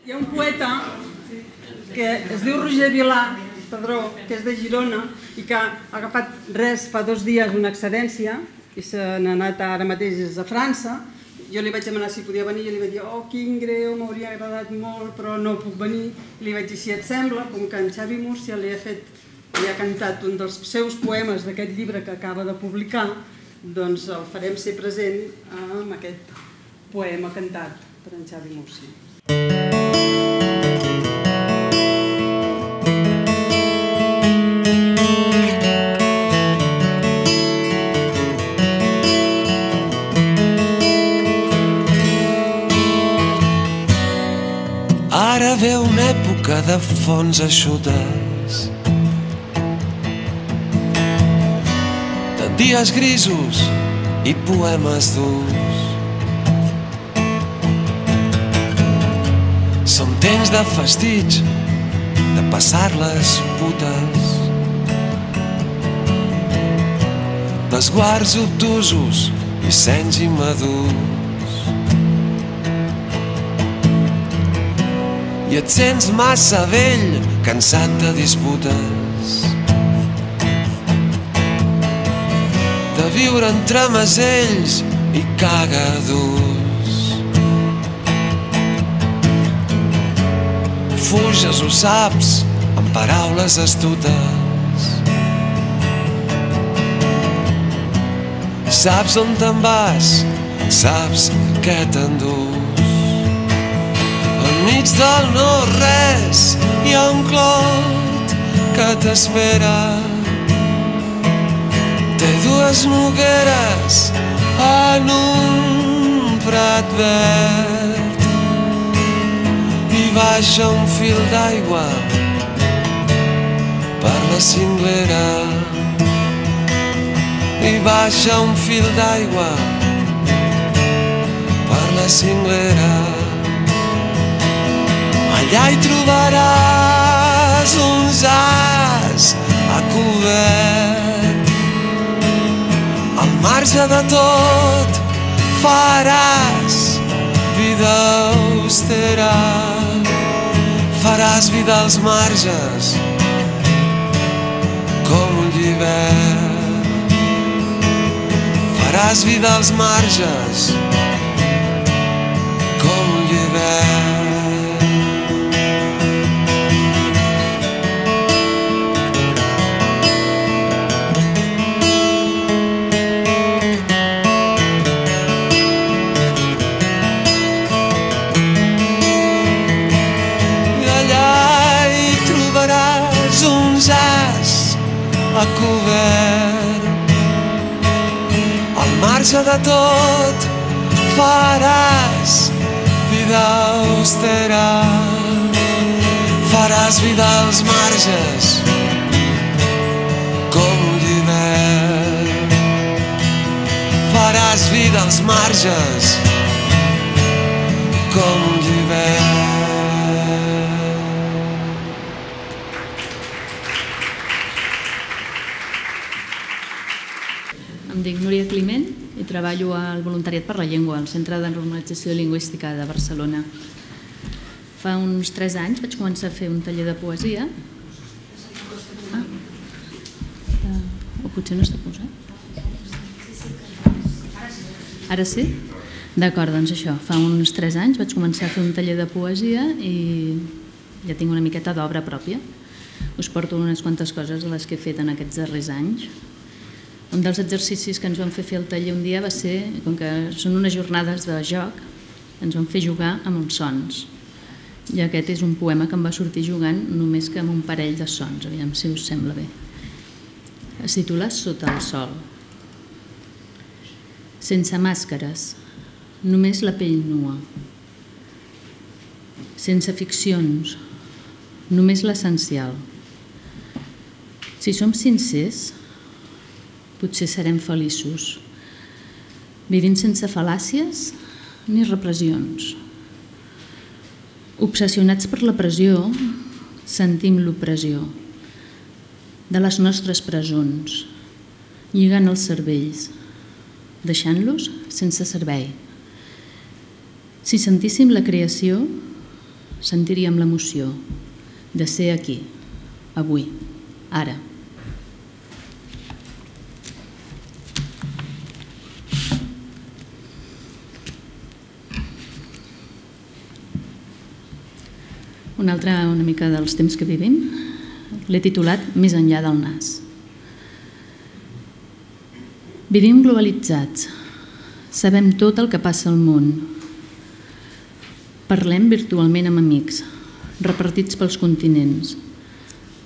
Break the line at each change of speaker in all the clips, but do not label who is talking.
Hi ha un poeta que es diu Roger Vilà Padró, que és de Girona i que ha agafat fa 2 dies una excedència i se n'ha anat ara mateix a França. Jo li vaig demanar si podia venir i li vaig dir oh, quin greu, m'hauria agradat molt, però no puc venir. I li vaig dir si et sembla, com que en Xavi Múrcia li ha cantat un dels seus poemes d'aquest llibre que acaba de publicar, doncs el farem ser present amb aquest poema cantat per en Xavi Múrcia.
Ara ve una època de fonts eixutes, de dies grisos i poemes durs. Som temps de festig, de passar-les putes, d'esguards obtusos i senys immadurs. I et sents massa vell, cansat de disputes, de viure entre masells i cagadurs. Fuges, ho saps, amb paraules astutes. Saps on te'n vas, saps què t'endús. Enmig del no-res hi ha un clot que t'espera. Té 2 nogueres en un prat verd i baixa un fil d'aigua per la cinglera. I baixa un fil d'aigua per la cinglera. Allà hi trobaràs uns as a cobert. Al marge de tot faràs vida austera. Faràs vida als marges com un llibert. Faràs vida als marges com un llibert. A cobert. Al marge de tot faràs vida austera. Faràs vida als marges com un llibert. Faràs vida als marges com un llibert.
Em dic Núria Climent i treballo al Voluntariat per la Llengua, al Centre de Normalització Lingüística de Barcelona. Fa uns 3 anys vaig començar a fer un taller de poesia. O potser no està posat? Ara sí? D'acord, doncs això. Fa uns 3 anys vaig començar a fer un taller de poesia i ja tinc una miqueta d'obra pròpia. Us porto unes quantes coses de les que he fet en aquests darrers anys. Un dels exercicis que ens van fer el taller un dia va ser, com que són unes jornades de joc, ens van fer jugar amb uns sons. I aquest és un poema que em va sortir jugant només que amb un parell de sons, aviam si us sembla bé. Es titula Sota el sol. Sense màscares, només la pell nua. Sense ficcions, només l'essencial. Si som sincers, potser serem feliços, vivint sense fal·làcies ni repressions. Obsessionats per la pressió, sentim l'opressió de les nostres presons, lligant els cervells, deixant-los sense servei. Si sentíssim la creació, sentiríem l'emoció de ser aquí, avui, ara. Una altra una mica dels temps que vivim l'he titulat Més enllà del nas. Vivim globalitzats, sabem tot el que passa al món. Parlem virtualment amb amics, repartits pels continents.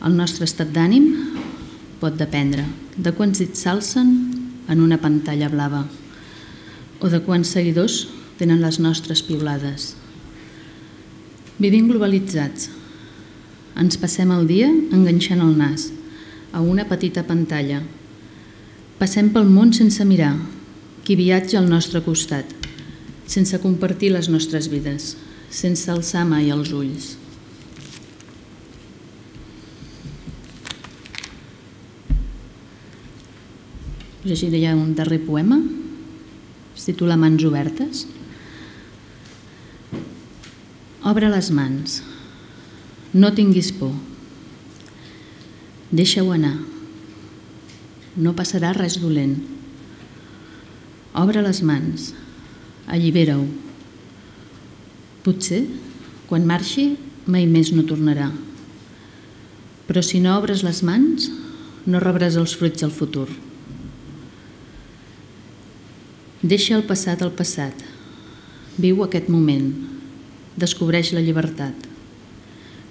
El nostre estat d'ànim pot dependre de quants dits s'alcen en una pantalla blava o de quants seguidors tenen les nostres piulades. Vivim globalitzats. Ens passem el dia enganxant el nas a una petita pantalla. Passem pel món sense mirar qui viatja al nostre costat, sense compartir les nostres vides, sense alçar mai els ulls. Llegiré un darrer poema, es titula Mans obertes. Obre les mans, no tinguis por, deixa-ho anar, no passarà res dolent. Obre les mans, allibera-ho. Potser, quan marxi, mai més no tornarà. Però si no obres les mans, no rebràs els fruits del futur. Deixa el passat al passat, viu aquest moment, descobreix la llibertat.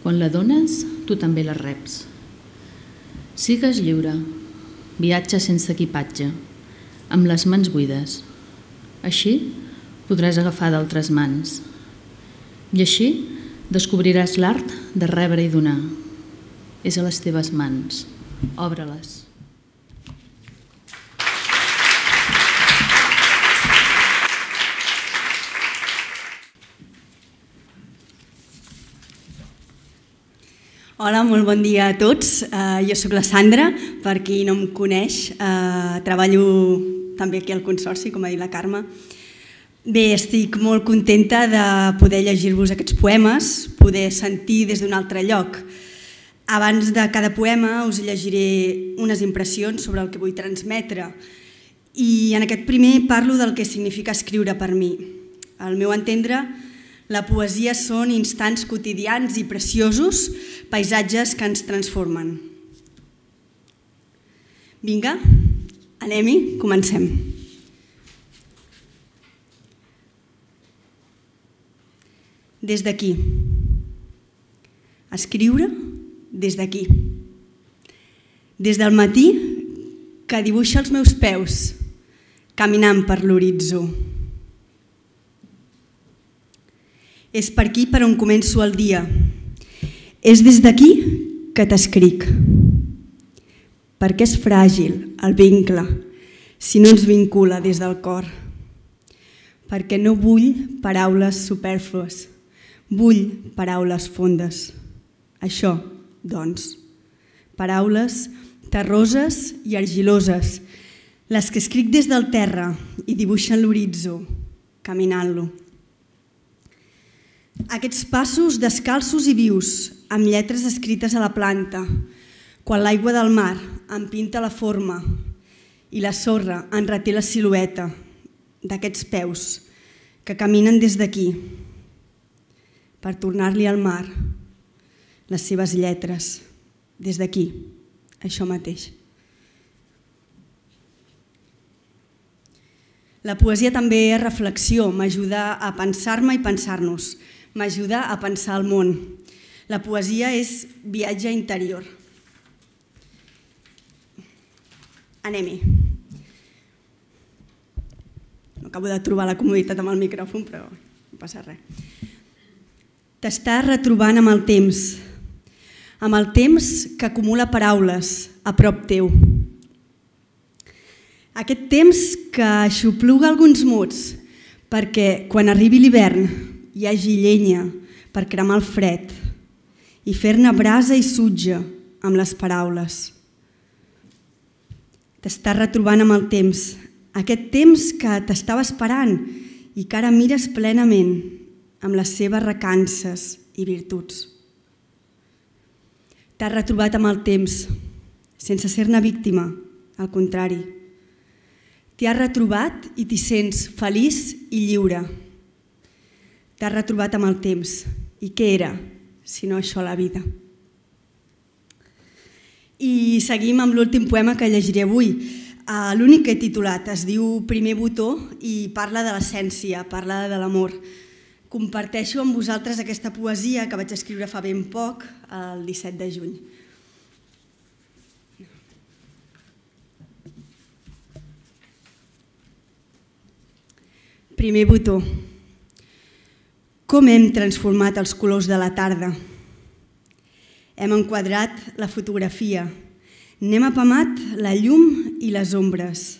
Quan la dones, tu també la reps. Sigues lliure, viatja sense equipatge, amb les mans buides. Així podràs agafar d'altres mans. I així descobriràs l'art de rebre i donar. És a les teves mans. Obre-les.
Hola, molt bon dia a tots. Jo sóc la Sandra, per qui no em coneix. Treballo també aquí al Consorci, com ha dit la Carme. Bé, estic molt contenta de poder llegir-vos aquests poemes, poder sentir des d'un altre lloc. Abans de cada poema us llegiré unes impressions sobre el que vull transmetre. I en aquest primer parlo del que significa escriure per mi. Al meu entendre, la poesia són instants quotidians i preciosos, paisatges que ens transformen. Vinga, anem-hi, comencem. Des d'aquí. Escriure des d'aquí. Des del matí que dibuixa els meus peus, caminant per l'horitzó. És per aquí per on començo el dia. És des d'aquí que t'escric. Perquè és fràgil el vincle si no ens vincula des del cor. Perquè no vull paraules supèrflues, vull paraules fondes. Això, doncs, paraules terroses i argiloses, les que escric des del terra i dibuixen l'horitzó, caminant-lo. Aquests passos descalços i vius, amb lletres escrites a la planta, quan l'aigua del mar em pinta la forma i la sorra en reté la silueta d'aquests peus que caminen des d'aquí per tornar-li al mar les seves lletres, des d'aquí, això mateix. La poesia també és reflexió, m'ajuda a pensar-me i pensar-nos, m'ajuda a pensar el món. La poesia és viatge interior. Anem-hi. No acabo de trobar la comoditat amb el micròfon, però no passa res. T'estàs retrobant amb el temps que acumula paraules a prop teu. Aquest temps que aixopluga alguns mots perquè quan arribi l'hivern hi hagi llenya per cremar el fred i fer-ne brasa i sutge amb les paraules. T'estàs retrobant amb el temps, aquest temps que t'estava esperant i que ara mires plenament amb les seves recances i virtuts. T'has retrobat amb el temps, sense ser-ne víctima, al contrari. T'hi has retrobat i t'hi sents feliç i lliure. T'has retrobat amb el temps. I què era, si no això la vida? I seguim amb l'últim poema que llegiré avui. L'únic que he titulat es diu Primer botó i parla de l'essència, parla de l'amor. Comparteixo amb vosaltres aquesta poesia que vaig escriure fa ben poc, el 17 de juny. Primer botó. Com hem transformat els colors de la tarda? Hem enquadrat la fotografia, n'hem apamat la llum i les ombres,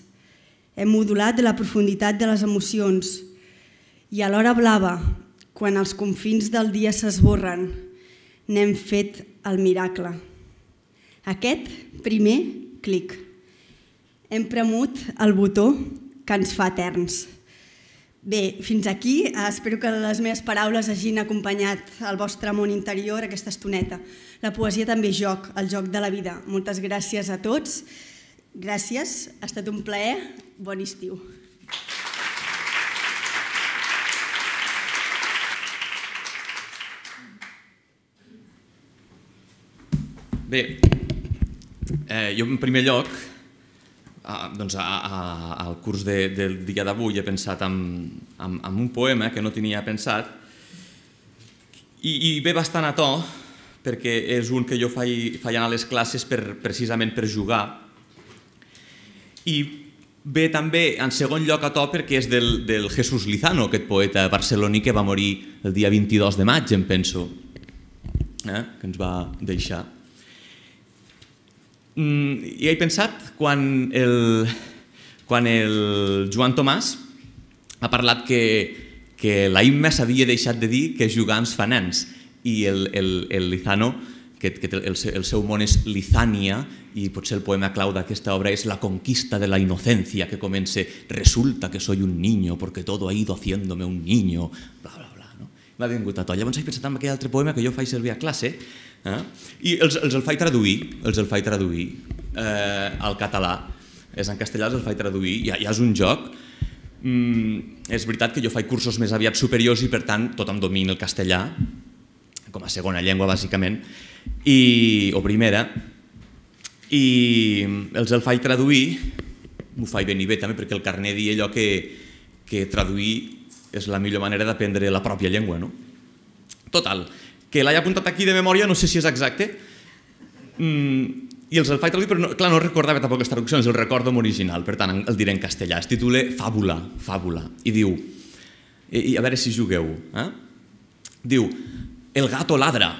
hem modulat la profunditat de les emocions i a l'hora blava, quan els confins del dia s'esborren, n'hem fet el miracle. Aquest primer clic. Hem premut el botó que ens fa eterns. Bé, fins aquí. Espero que les meves paraules hagin acompanyat el vostre món interior aquesta estoneta. La poesia també és joc, el joc de la vida. Moltes gràcies a tots. Gràcies, ha estat un plaer. Bon estiu.
Bé, jo en primer lloc, al curs del dia d'avui he pensat en un poema que no tenia pensat i ve bastant a to perquè és un que jo faig anar a les classes precisament per jugar i ve també en segon lloc a to perquè és del Jesús Lizano, aquest poeta barceloní que va morir el dia 22 de maig, em penso, que ens va deixar. I he pensat quan el Joan Tomàs ha parlat que la Imma s'havia deixat de dir que jugar ens fa nens i el Lizano, que el seu món és Lizània i potser el poema clau d'aquesta obra és la conquista de la inocencia que comença resulta que soy un niño porque todo ha ido haciéndome un niño, bla bla bla. M'ha vingut a to. Llavors he pensat en aquell altre poema que jo faig servir a classe i els el faig traduir al català. És en castellà, els el faig traduir, ja és un joc. És veritat que jo faig cursos més aviat superiors i per tant tothom domina el castellà com a segona llengua bàsicament o primera i els el faig traduir, m'ho faig ben i bé també perquè el carnet diu allò que traduir és la millor manera d'aprendre la pròpia llengua. Total, que l'he apuntat aquí de memòria, no sé si és exacte, i els el faig traduir, però clar, no recordava tampoc les traduccions, el recordo en original, per tant el diré en castellà. Es titula Fàbula, i diu, a veure si jugueu, diu, el gato ladra,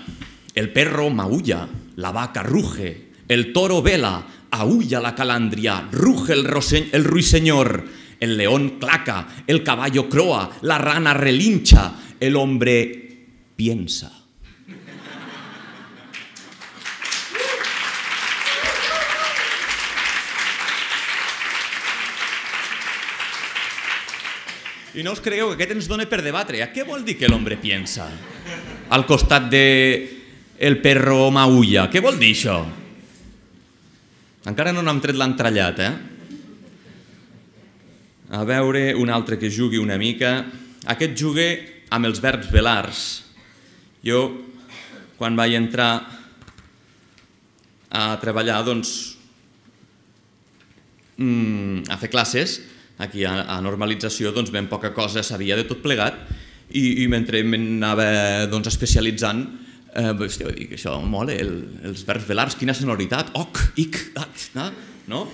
el perro maulla, la vaca ruge, el toro vela, aúlla la calandria, ruge el ruiseñor, el león claca, el caballo croa, la rana relincha, el hombre piensa. I no us cregueu que aquest ens dona per debatre. Què vol dir que l'hombre piensa? Al costat de el perro maulla. Què vol dir això? Encara no n'hem tret l'entrellat, A veure, un altre que jugui una mica. Aquest jugue amb els verbs velars. Jo, quan vaig entrar a treballar, a fer classes, aquí a normalització, ben poca cosa sabia de tot plegat i mentre m'anava especialitzant, dic, això mola, els verbs velars, quina sonoritat, oc, ic, no?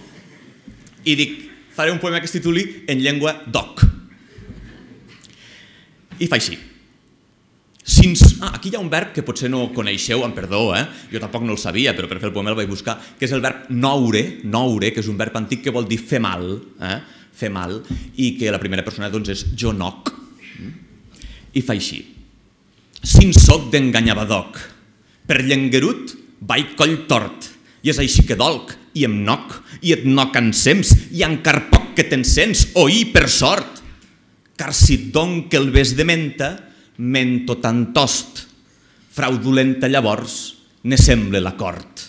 I dic, faré un poema que es tituli En llengua doc. I fa així. Aquí hi ha un verb que potser no coneixeu, amb perdó, jo tampoc no el sabia, però per fer el poema el vaig buscar, que és el verb noure, que és un verb antic que vol dir fer mal, i que la primera persona és jo noc. I fa així. Sin soc d'enganyabadoc, per llenguerut vaig coll tort, i és així que dolc, i em noc, i et noc ensems, i encar poc que t'encens, oí per sort, car si et don que el ves de menta, mento tan tost, fraudulenta llavors ne sembla la cort.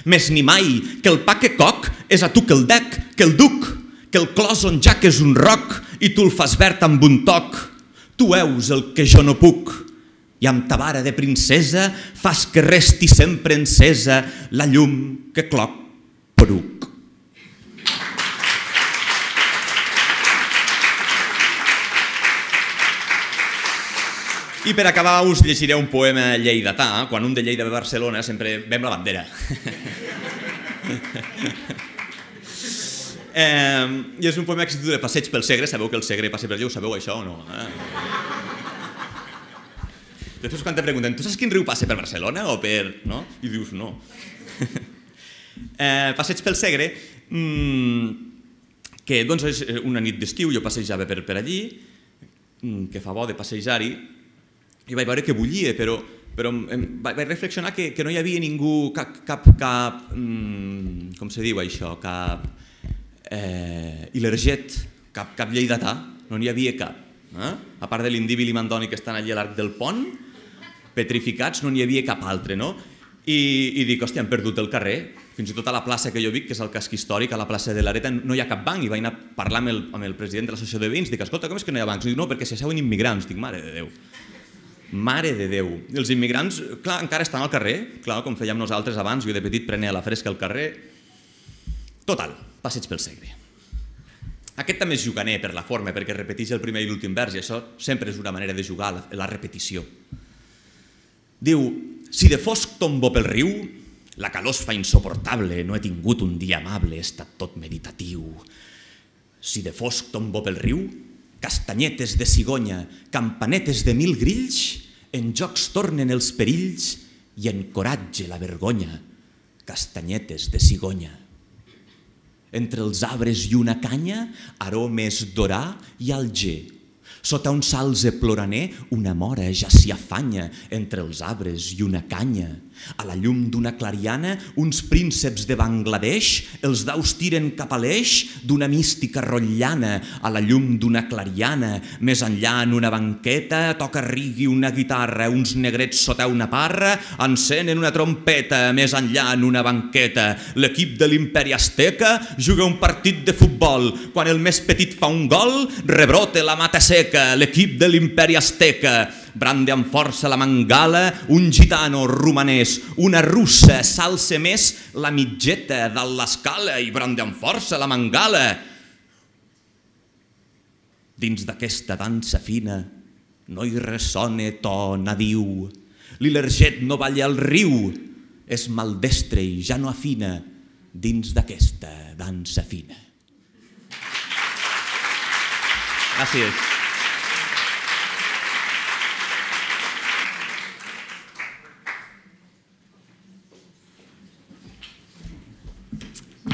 Més ni mai que el pa que coc és a tu que el dec, que el duc, que el clos on ja que és un roc i tu el fas verd amb un toc. Tu heus el que jo no puc i amb ta vara de princesa fas que resti sempre encesa la llum que cloc poruc. I per acabar us llegiré un poema lleidatà. Quan un de Lleida ve a Barcelona sempre ve amb la bandera. I és un poema que es titula Passeig pel Segre. Sabeu que el Segre passa per allà? Ho sabeu això o no? Després quan te pregunten, tu saps quin riu passa per Barcelona o per... no? I dius no. Passeig pel Segre, que doncs és una nit d'estiu, jo passejava per allí, que fa bo de passejar-hi, i vaig veure que bullia, però vaig reflexionar que no hi havia ningú, cap com se diu això, cap ilerget, cap lleidatà, no n'hi havia cap. A part de l'Indíbil i Mandoni que estan allà a l'arc del pont, petrificats, no n'hi havia cap altre, no? I dic, hòstia, han perdut el carrer, fins i tot a la plaça que jo vic, que és el casc històric, a la plaça de l'Areta, no hi ha cap banc, i vaig anar a parlar amb el president de l'associació de veïns, dic, escolta, com és que no hi ha bancs? Dic, no, perquè s'hi asseuen immigrants. Dic, mare de Déu. Mare de Déu. Els immigrants, clar, encara estan al carrer, clar, com fèiem nosaltres abans, jo de petit prenia la fresca al carrer. Total, passeig pel Segre. Aquest també és juganer per la forma, perquè repeteix el primer i l'últim vers, i això sempre és una manera de jugar, la repetició. Diu, si de fosc tombo pel riu, la calor es fa insoportable, no he tingut un dia amable, he estat tot meditatiu. Si de fosc tombo pel riu, castanyetes de cigonya, campanetes de 1000 grills, en jocs tornen els perills i encoratge la vergonya. Castanyetes de cigonya. Entre els arbres i una canya, aromes d'orà i alger. Sota un salze ploraner, una mora ja s'hi afanya entre els arbres i una canya. A la llum d'una clariana, uns prínceps de Bangladesh, els daus tiren cap a l'eix d'una mística rotllana. A la llum d'una clariana, més enllà en una banqueta, toca rigui una guitarra, uns negrets sota una parra, encenen una trompeta, més enllà en una banqueta. L'equip de l'Imperi Azteca juga un partit de futbol. Quan el més petit fa un gol, rebrote la mata seca. L'equip de l'Imperi Azteca brande amb força la mangala, un gitano romanès, una russa s'alça més la mitgeta dalt l'escala i brande amb força la mangala. Dins d'aquesta dansa fina no hi ressona to nadiu. L'ilerget no balla al riu, és maldestre i ja no afina dins d'aquesta dansa fina. Gràcies.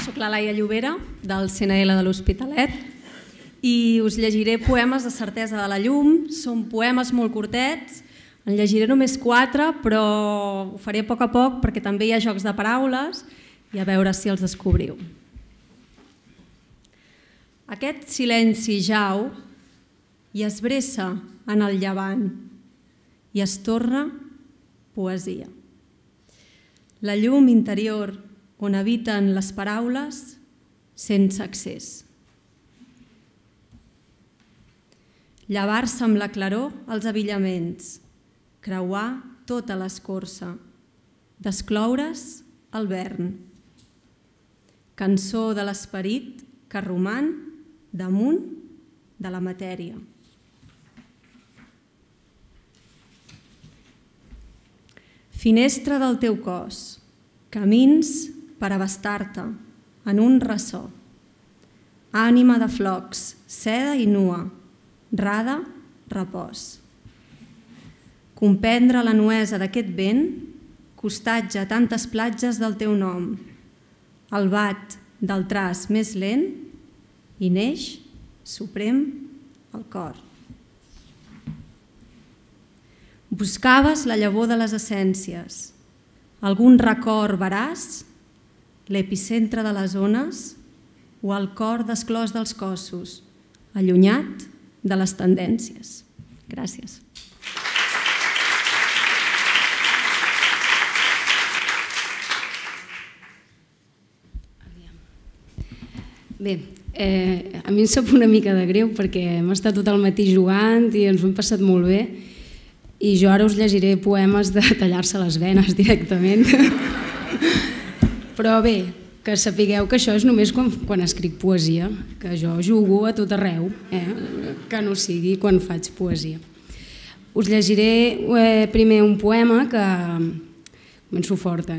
Soc la Laia Llobera, del CNL de l'Hospitalet, i us llegiré poemes de Certesa de la Llum. Són poemes molt curtets, en llegiré només 4, però ho faré a poc perquè també hi ha jocs de paraules i a veure si els descobriu. Aquest silenci jau i es bressa en el llevant i es torna poesia. La llum interior on habiten les paraules sense accés. Llevar-se amb la claror als abillaments, creuar tota l'escorça, descloure's el vern. Cançó de l'esperit que roman damunt de la matèria. Finestra del teu cos, camins per abastar-te en un ressò. Ànima de flocs, seda i nua, rada, repòs. Comprendre la nuesa d'aquest vent, costatge tantes platges del teu nom, el bat del traç més lent i neix, suprem, el cor. Buscaves la llavor de les essències, algun record veraç, l'epicentre de les ones o el cor desclòs dels cossos, allunyat de les tendències. Gràcies.
Bé, a mi em sap una mica de greu perquè hem estat tot el matí jugant i ens ho hem passat molt bé i jo ara us llegiré poemes de tallar-se les venes directament. Però bé, que sapigueu que això és només quan escric poesia, que jo jugo a tot arreu, que no sigui quan faig poesia. Us llegiré primer un poema que... començo forta,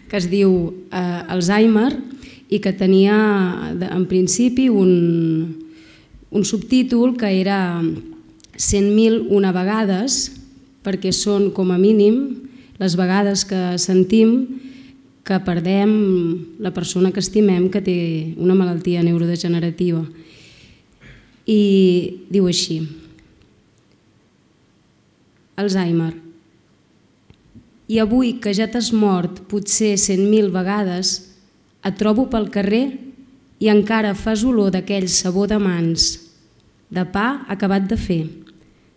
que es diu Alzheimer i que tenia en principi un subtítol que era 100.001 vegades, perquè són com a mínim les vegades que sentim que perdem la persona que estimem que té una malaltia neurodegenerativa. I diu així: Alzheimer. I avui que ja t'has mort potser 100.000 vegades, et trobo pel carrer i encara fas olor d'aquell sabó de mans, de pa acabat de fer,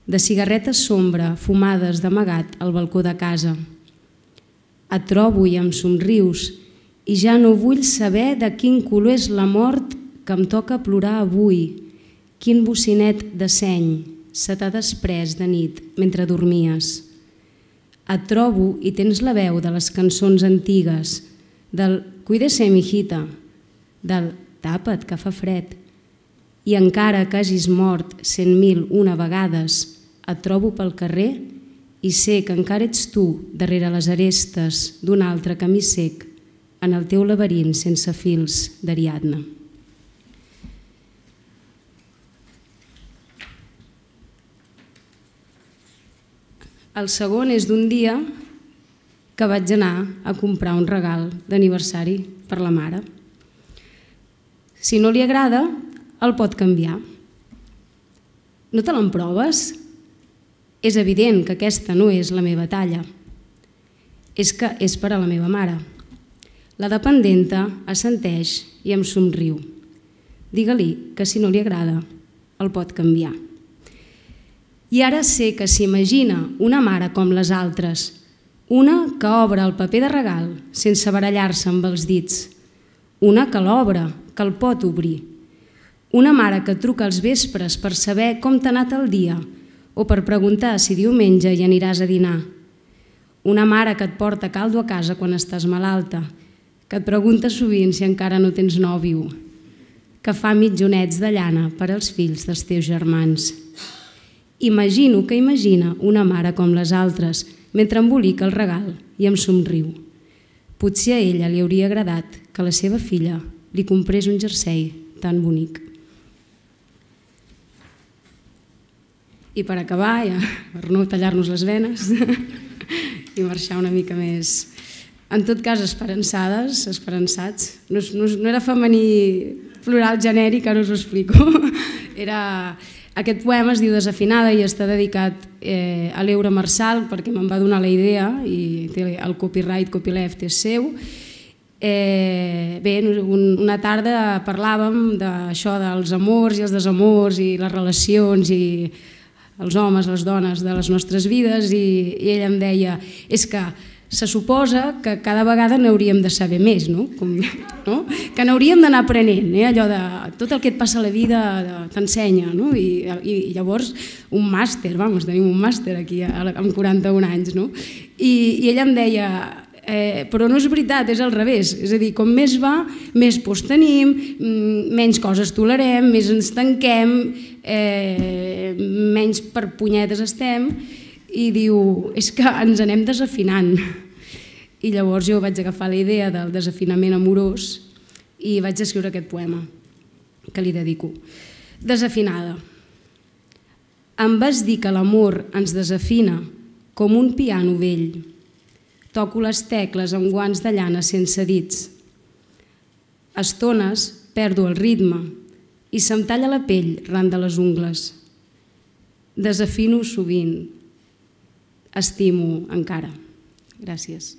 de cigarretes sombra fumades d'amagat al balcó de casa. Et trobo i em somrius i ja no vull saber de quin color és la mort que em toca plorar avui, quin bocinet de seny se t'ha desprès de nit mentre dormies. Et trobo i tens la veu de les cançons antigues, del «Cuídese, mijita», del «Tapa't, que fa fred». I encara que hagis mort 100.001 vegades, et trobo pel carrer i sé que encara ets tu darrere les arestes d'un altre camí sec en el teu laberint sense fils d'Ariadna. El segon és d'un dia que vaig anar a comprar un regal d'aniversari per la mare. Si no li agrada, el pot canviar. No te l'emproves? És evident que aquesta no és la meva talla. És que és per a la meva mare. La dependenta assenteix i em somriu. Digue-li que si no li agrada, el pot canviar. I ara sé que s'imagina una mare com les altres, una que obre el paper de regal sense barallar-se amb els dits, una que l'obre, que el pot obrir, una mare que truca als vespres per saber com t'ha anat el dia o per preguntar si diumenge hi aniràs a dinar, una mare que et porta caldo a casa quan estàs malalta, que et pregunta sovint si encara no tens nòvio, que fa mitjonets de llana per als fills dels teus germans. Imagino que imagina una mare com les altres mentre embolica el regal i em somriu. Potser a ella li hauria agradat que la seva filla li comprés un jersei tan bonic. I per acabar, ja, per no tallar-nos les venes i marxar una mica més, en tot cas, esperançades, esperançats. No era femení plural genèric, ara us ho explico. Aquest poema es diu Desafinada i està dedicat a l'Eura Marçal perquè me'n va donar la idea i el copyleft és seu. Bé, una tarda parlàvem d'això dels amors i els desamors i les relacions i els homes, les dones de les nostres vides i ella em deia, és que se suposa que cada vegada n'hauríem de saber més, que n'hauríem d'anar aprenent, allò de tot el que et passa a la vida t'ensenya, i llavors un màster, tenim un màster aquí amb 41 anys, i ella em deia, però no és veritat, és al revés, és a dir, com més va, més pors tenim, menys coses tolerem, més ens tanquem, menys per punyetes estem, i diu, és que ens anem desafinant. I llavors jo vaig agafar la idea del desafinament amorós i vaig escriure aquest poema que li dedico. Desafinada. Em vas dir que l'amor ens desafina com un piano vell. Toco les tecles amb guants de llana sense dits. A estones perdo el ritme i se'm talla la pell ran de les ungles. Desafino sovint. Estimo encara. Gràcies.